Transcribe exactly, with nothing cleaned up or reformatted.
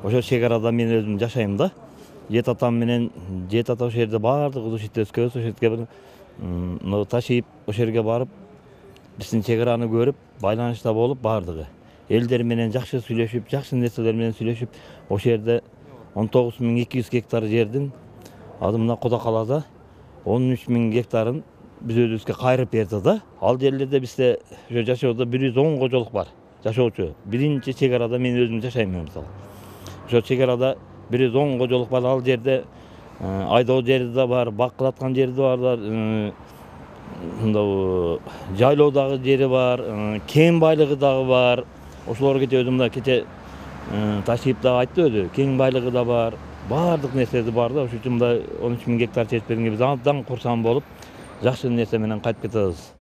ошол чек арада мен өзүм жашайм да. Жет атам менен жет ата ошол жерде баардык улус ит өскөбүз, ошол жерге мына ташыйп ошол жерге барып биздин чек араны көрүп, байланышта болуп баардыгы. Элдер менен жакшы сүйлөшүп, жакшы нерселер менен сүйлөшүп, ошол жерде он тогуз миң эки жүз гектар жердин азыр мына Куда калаада он үч миң гектарын биз өзүбүзгө кайрып берди да. Ал жерлерде бизде ошо жашоодо бир жүз он кожолук бар, жашоочу. Биринчи чек арада мен өзүм жашайм мисалы. Ошо чек арада бир жүз он кожолук бар. Ал жерде айдоо жери да бар, бак кылаткан жери да бар, мындай жайлоодагы жери бар, кен байлыгы дагы бар. Ошолор кече өзүм мына кече ташип дагы айтты өзү, кен байлыгы да бар. Баардык нерсеси бар да. Ошол үчүн мындай он үч миң гектар чечип бергенге биз абдан курсан болуп, жакшы нерсе менен кайтып кетебиз.